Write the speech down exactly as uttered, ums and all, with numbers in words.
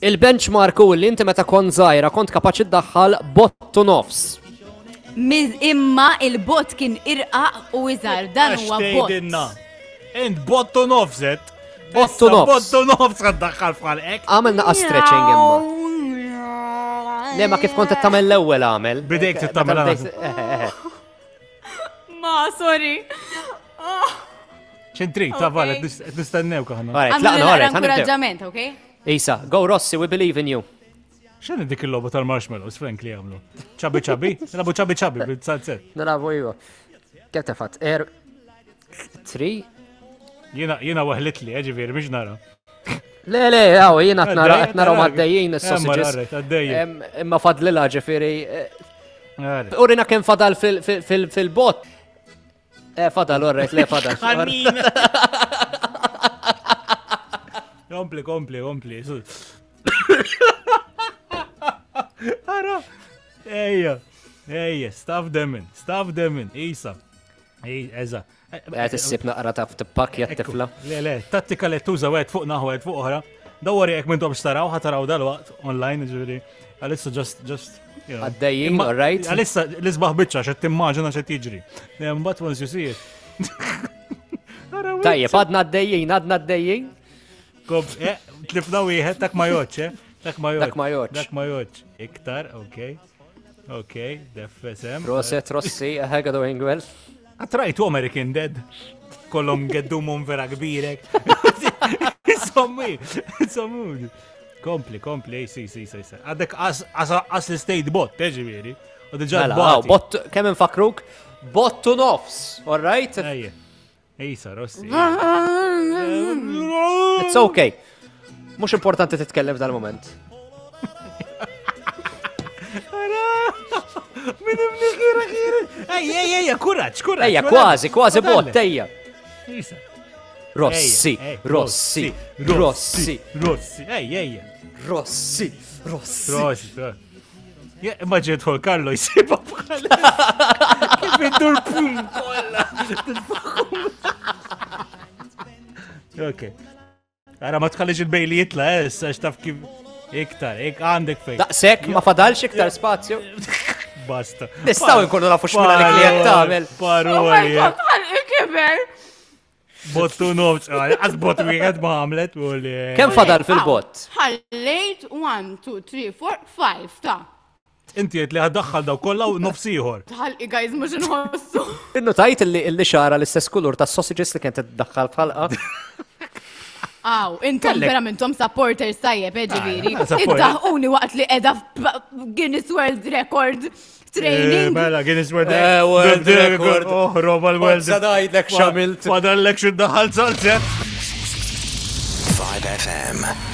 Il-benchmark u li inti meta kont żgħira kont kapaċi ddaħħal bottu nofs. Miz imma il-bot kien irqaq u iżgħar, dan huwa bot. Tgħidilna. Int bottu nofset. Bottu Issa nofs. Bottu nofs għad daħħal f'ħalqek. Għamel naqa stretching imma. Le ma kif kont qed tagħmel l-ewwel għamel. Bidejk Meta tagħmel bdejt- eh, eh, eh. Ma, sorry. ċentri, ta' val, Ok. qed nistennew aħna. Alright, Għamlu tlaqna, naqra alright, ħanibdew. inkoraġġament, ok? Isa, go Rossi, we believe in you. X'inhi dik il-logħba tal-marshmallows, Frank, li għamlu? Chubby chubby? Nilagħbu chubby chubby bil-zalzett. Nilagħbu iva. Kemm tefat? Er, three? Jiena jiena waħlit li, ġifieri, biex nara. Le, le, għaw, jiena qed nara qed naraw għaddejjin Eh, is-sausages. alright, għaddejjin. Em, Imma fadlilha ġifieri. eh, Alright. Urina kemm fadal fil- fil- fil- fil-bot. Eh, fadal, alright, le, fadal. Kompli, kompli, kompli. su. Ara. Ejja, ejja, staff demin, staff demin, isa. Ej, eża. Qed issib naqra taf tippakja t-tifla. Le, le, tattika li tuża wieħed fuq naħa wieħed fuq oħra. Dawwar jekk m'intom taraw, ħa taraw dal-waqt online, ġifieri. Għalissa just, just, you know. Għaddejjin, Imma- alright. Għalissa l-isbaħ biċċa xed timmaġina xed jiġri. Mbagħad once you see it. Ara, Tajjeb, għadna għaddejjin, għadna għaddejjin. Kob, eh, tlifna wieħed, dak ma joċ, eh? Dak ma joċ. Dak ma joċ. Dak ma joċ. Iktar, okej. Okej, deffesem. Proset, Rossi, eh, doing well. Għatrajtu American Dead. Kollhom geddumhom vera kbirek. Insommi, insommi. Kompli, kompli, si, si, si, si. Għadek as as l-state bot, eh, ġifieri. U diġà Mela, għaw, bot, kemm infakruk? Bottu nofs, all right? Ejja. Ejsa, Rossi. It's okay. Mhux importanti titkellem f'dal-moment. Min imniħira ħira. Ejja, ejja, ejja, kuraġġ, kuraġġ. Ejja, kważi, kważi bot, ejja. Ejsa. Rossi, Ejja, ej, Rossi, Rossi, Rossi, ejja, ejja. Rossi, Rossi. Rossi, Rossi. Ja, imma ġiet Carlo jisiba bħal. Kif idur pum kolla. Ok. Ara ma tħallix il-bejli jitla, eh, issa x'taf kif iktar, ik għandek fej. Daqsek, ma fadalx iktar spazju. Basta. Nistgħu nkunu nafu x'mina li klient tagħmel. Oh my Paroli. god, ħalqi kiber! Bottu nofs, għaz bot wieħed ma għamlet u li. Kemm fadal fil-bot? Ħallejt one, two, three, four, five, ta' Inti qed li ħaddaħħal daw kollha u nofs ieħor. ħalqi guys mhux inħossu. Innu tajt illi illi xara l-istess kulur ta' sausages li kien tiddaħħal f'ħalqa. Aw, intom Kellek. vera intom supporters tajjeb, eh, ġifieri. Ah, supporter. Iddaħquni waqt li qiegħda f'Guinness World Record training. Eh, Mela, Guinness World Eh, World Record. Oh, roba l-World. Sa ngħidlek x'għamilt. Fadallek xi daħal salzet. five F M.